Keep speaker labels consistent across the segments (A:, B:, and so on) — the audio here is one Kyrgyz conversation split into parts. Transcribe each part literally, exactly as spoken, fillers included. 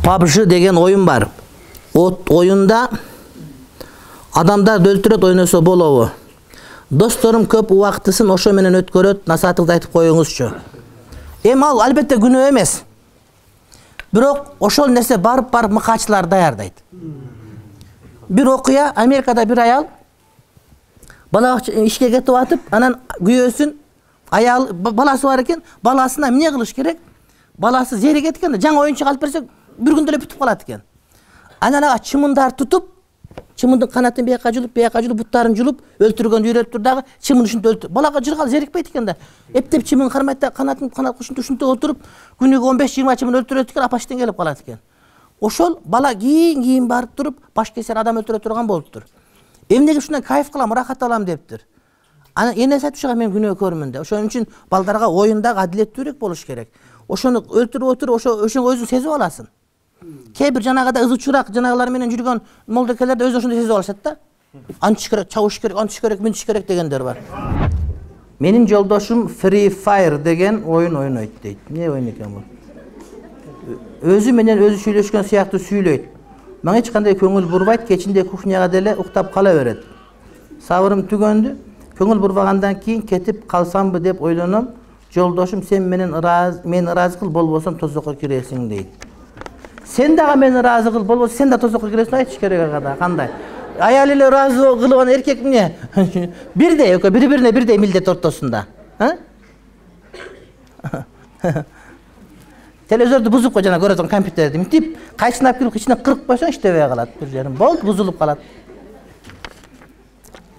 A: PUBG деген oyun бар. От oyunda адамдар өлтүрөт ойносо болобу? Досторум көп убактысын ошо менен өткөрөт, насаатыңызды айтып коюңузчу. Эми ал албетте күнөө эмес. Бирок ошол нерсе барып барып мыкаачылар даярдайт. Бир окуя, Америкада бир аял бала ишке кетип атып, анан күйөөсүн аял баласы бар экен, баласына эмне кылыш керек? Баласы зеригет экен, жаңы оюнчук алып берсек, бир күндө эле бүтүп калат экен. Анан ага чымындар тутуп, чымындын канатын бияка жулуп, бияка жулуп, буттарын жулуп, өлтүргөн үйрөттүр дагы, чымын ушинтип өлтүр. Балага жыргал зерикпейт экен да. Эптеп чымын кармайт да, канатын канат ушинтип ушинтип отуруп, күнүгө он беш жыйырма чымын өлтүрөт экен, апаштан келип калат экен. Ошол бала кийин-кийин барып туруп, баш кесер адам өлтүрө турган болуптур. Эмнеге ушундай кайф кылам, рахат алам дептир. Анан энеси айтып мен күнөө көрмүн да. Ошон үчүн балдарга оюндагы адилеттүүрөөк болуш керек. Ошону өлтүрүп отуруп, ошо ошону өзүң сезип аласың. Кээ бир жанагыда ызычураак жанагылар менен жүргөн молдокелер да өзү ошондой сезип алышат да. Антыш керек, чабыш керек, антыш керек, мынтыш керек дегендер бар. Менин жолдошум Free Fire деген оюн ойнойт дейт. Эмне оюн экен бул? Өзү менен өзү сүйлөшкөн сыяктуу сүйлөйт. Мага эч кандай көңүл бурбайт, кечинде кухняга деле уктап кала берет. Сабырым түгөндү. Көңүл бурбагандан кийин кетип калсамбы деп ойлоном. Жолдошум сен менен ыраазы, мен ыраазы кыл, болбосом тозокко киресиң дейт. Сен дагы мени ыраазы кыл, болбосо сен да тозокко киресиң, айтыш керек ага, кандай? Аял эле ыраазы кылып ана эркек эмне? Бирдей, экөө бири-бирине бирдей милдет ортосунда. Телевизорду бузуп кой, жана көрөсүң компьютерди. Мынтип кайсына алып кирип ичине кырып койсоң иштебей калат бир жерин. Болду, бузулуп калат.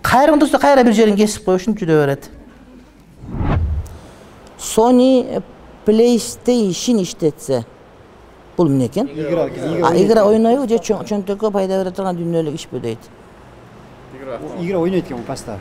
A: Кайра турса кайра бир жерин кесип коюп ушинтип жүрө берет. Sony PlayStation иштетсе бул эмне экен? Игра ойнойбу же чөнтөккө пайда бере турган дүйнөлүк ишпи дейт.
B: Игра ойнойт экен паста.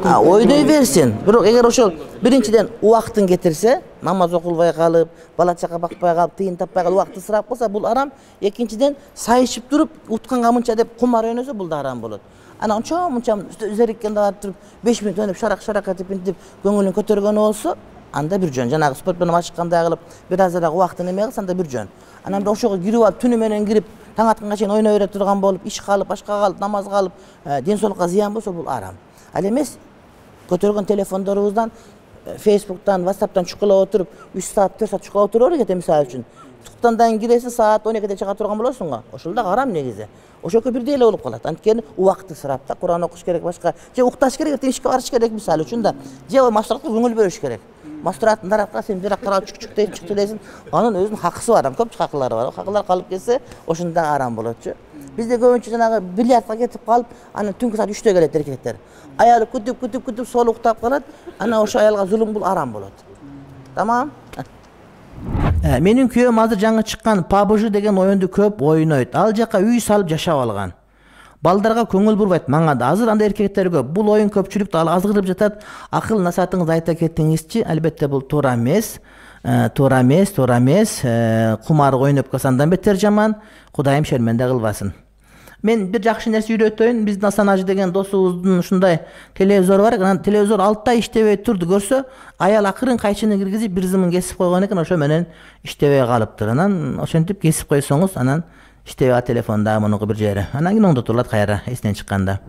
A: А ойной берсин. Бирок эгер ошол биринчиден убактын кетирсе, намаз окулбай калып, бала чака бакпай калып, тыйын таппай калып, убакты сырап калса, бул арам. Экинчиден сайышып туруп, утканга мынча деп кумар ойносо, бул да арам болот. Ана ончо мынча зериккенде барып туруп, беш мүнөт ойноп, шарак-шарак этип, интип көңүлүн көтөргөнү болсо, анда бир жөн. Жанагы спорт менен машыккандай кылып, бир азыраак убактын эме кылса, анда бир жөн. Анан ошого кирип алып, түнү менен кирип, таң атканга чейин ойной бере турган болуп, иш калып, башка калып, намаз калып, ден соолукка зыян болсо, бул арам. Ал эмес көтөргөн телефондорубуздан, Facebook'tan, WhatsApp'tan чукулап отуруп, үч саат, төрт саат чукулап отуруп экен, мисалы үчүн. Туктандан киресиң, саат он экиде чыга турган болосуң го. Ошол да арам негизи. Ошоко бирдей эле болуп калат. Анткени убакты сырап да, Куран окуш керек, башка, же укташ керек, ишке барыш керек мисалы үчүн да. Же мастуратка көңүл бөлүш керек. Мастураттын тарапка сен бирак карап чук-чук дейт, чук дейсиң. Анын өзүнүн хакысы бар, көп хакылары бар. Хакылар калып кетсе, ошондо арам болотчу. Бизде көбүнчө жанагы бильярдка кетип калып, анан түнкү саат үчтө келет эркектер. Аялы күтүп, күтүп, күтүп, сол уктап калат. Анан ошо аялга зулум, бул арам болот. Тамам? Менин күйөөм азыр жаңы чыккан PUBG деген оюнду көп ойнойт. Ал жака үй салып жашап алган. Балдарга көңүл бурбайт, мага да. Азыр анда эркектер көп. Бул оюн көпчүлүктү азгырып жатат. Акыл насаатыңызды айта кетиңизчи. Албетте бул туура эмес. Туура эмес, туура эмес. Кумар ойноп калса андан бетер жаман. Кудайым шерменде кылбасын. Мен бир жакшы нерсе үйрөтөйүн. Биздин Асанажы деген досубуздун ушундай телевизор бар экен. Анан телевизор алты ай иштебей турду, көрсө, аял акырын кайчыны киргизип бир зымын кесип койгон экен, ошо менен иштебей калыптыр. Анан ошентип кесип койсоңуз, анан иштебей телефонда мунуку бир жери. Анан кийин оңдотулат кайра эсинен чыкканда.